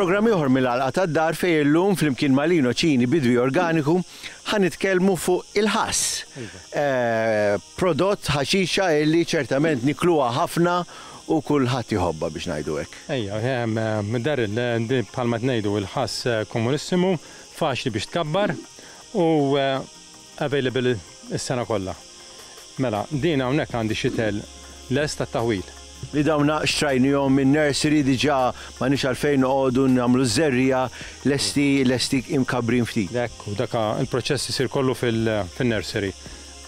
programm ieħor mill-Għalqa tad-Dar fejn illum flimkien ma' Lino Cini bidwi organiku ħa nitkellmu fuq il-ħass. Prodott ħaxixa illi ċertament nikluha ħafna u kulħadd iħobbha biex ngħidu hekk. Ejja, Daryl, bħalma qed ngħidu il-ħass komunissimu, faċli biex tkabbar u Available is-sena kollha. Mela, din hawnhekk għandi xitel lest għat-taħwil. Li dawn xtrajnihom minn nursery diġà m'għandniex għalfejn noqogħdu nagħmlu ż-żerriegħa lesti lesti imkabbrin ftit. Hekk hu, dak il-proċess isir kollu fil-nursery.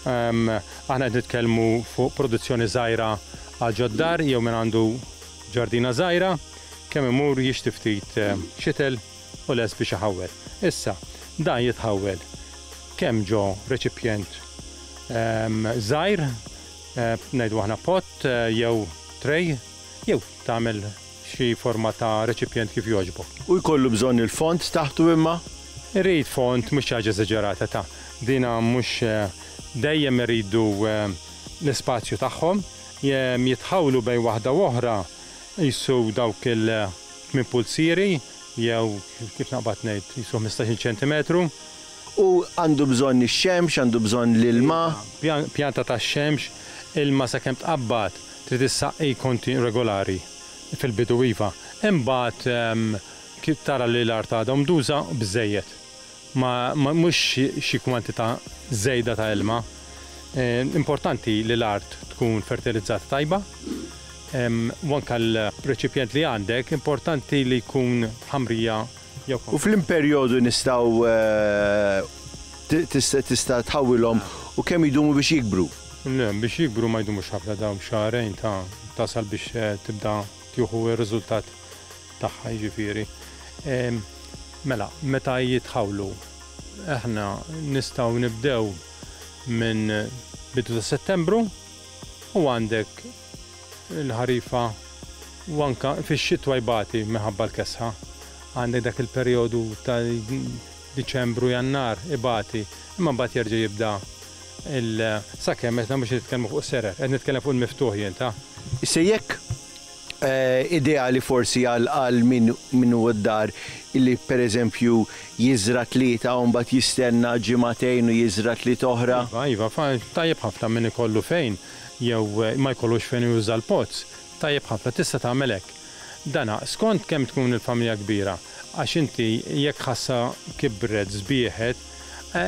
Aħna qed nitkellmu fuq produzzjoni żgħira għal ġod-dar jew min għandu ġardina żgħira, kemm imur jixtri ftit xitel u lest biex iħawwel. Issa, dan jitħawwel kemm ġo reċipjent żgħir, ngħidu aħna pot jew tray, jew tagħmel xi forma ta' reċipjent kif jogħġbok. U jkollu bżonn il-fond taħtu imma? Irid fond, mhux xi ħaġa eżaġerata ta'. Dina mhux dejjem iridu l-ispazju tagħhom, jitħawlu bejn waħda u oħra qisu dawk il-tmien pulzieri jew kif naqbad ngħid qisu 15-il ċentimetru. U għandu bżonn ix-xemx, għandu bżonn l-ilma. Iva, pjanta tax-xemx, ilma sakemm tqabbad trid issaqqi konti regolari fil-bidu iva. Imbagħad kif tara li l-art għadha umduża biżżejjed. Ma mhux xi kwantità żejda ta' ilma. Importanti li l-art tkun fertilizzata tajba. U anke l-reċipjent li għandek importanti li jkun ħamrija jew U f'liem perjodu nistgħu tista' tħawwilhom u kemm idumu biex jikbru? Le, biex jikbru ma jdumux ħafna dawn xahrejn ta' tasal biex tibda tieħu r-riżultat tagħha jiġifieri. Mela, meta jitħawlu, aħna nistgħu nibdew minn bidu ta' Settembru u għandek il-ħarifa u anke fix-xitwa jbati minħabba l-kesħa. Għandek dak il-perjodu ta' Diċembru, Jannar ibati, imma mbagħad jerġa' jibda il sakemm meta mhux nitkellmu fuq serer, qed nitkellem fuq il-miftuħ jien ta'. Issa jekk ideali forsi għal għal min min hu d-dar illi pereżempju jiżra' tlieta u mbagħad jistenna ġimagħtejn u jiżra' tlieta oħra. Iva, iva, tajjeb ħafna min ikollu fejn jew ma jkollux fejn juża l-pots, tajjeb ħafna tista' tagħmel hekk. Dana skont kemm tkun il-familja kbira għax inti jekk ħassa kibret sbieħet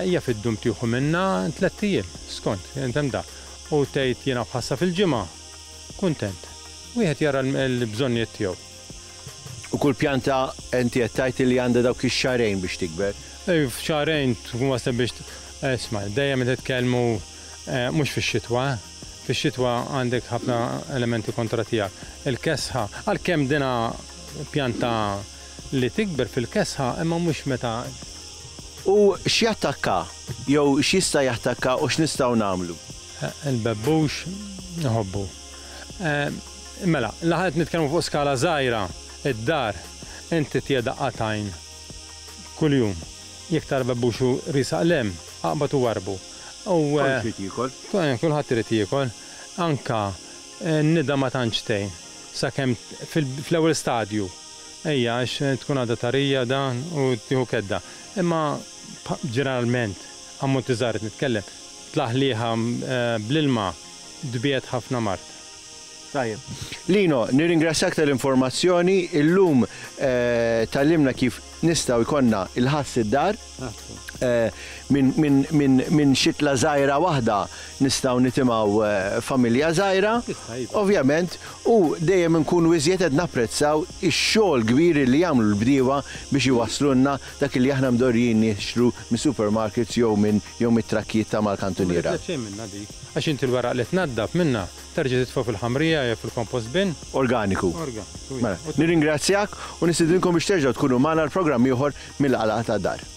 jaf iddum tieħu minnha tlett ijiem skont hemm da u tgħid jiena b'ħassa fil-ġimgħa kuntent. Wieħed jara l-bżonnijiet tiegħu. U kull pjanta inti qed tgħid li għandha dawk ix-xahrejn biex tikber. F'xahrejn tkun waslet biex isma' dejjem qed nitkellmu mhux fix-xitwa, eh. Fix-xitwa għandek ħafna elementi kontra tiegħek. Il-kesħa, għalkemm dina pjanta li tikber fil-kesħa imma mhux meta. U x'jattakka jew x'jista' jattakka u x'nistgħu nagħmlu? Il-bebbux iħobbu. Mela, la qed nitkellmu fuq skala żgħira, id-dar, inti tiegħi daqqa t'għajn kuljum. Jekk tara bebbux u riesaq 'l hemm, aqbad u warrbu. U Kulħadd irid jiekol. Kulħadd irid jiekol. Anka n-nida ma tantx tgħin sakemm fl-ewwel stadju. Ejja għax tkun għadha tarija dan u tieħu kedda. Imma ġeneralment, ammonti żgħar qed nitkellem, tlaħliħa bl-ilma tbiegħed ħafna mard. Tajjeb. Lino, nirringrazzjak tal-informazzjoni. Illum tgħallimna kif nistgħu jkollna il-ħass id-dar. Minn xitla żgħira waħda nistgħu nitimgħu familja żgħira. Ovvjament, u dejjem inkunu iżjed qed napprezzaw ix-xogħol kbir li jagħmlu l-bdiewa biex iwasslulna dak li aħna mdorrijin nixtru mis-supermarkets jew minn jew mit-trakkijiet ta' mal-kantuniera. U ma titlef xejn minnha dik, għax inti l-weraq li tnaddaf minnha terġa' titfgħu fil-ħamrija jew fil-compost bin. Organiku. Organiku, iva. Mela, nirringrazzjak u nistidinkom biex terġgħu tkunu magħna għal programm ieħor mill-Għalqa tad-Dar.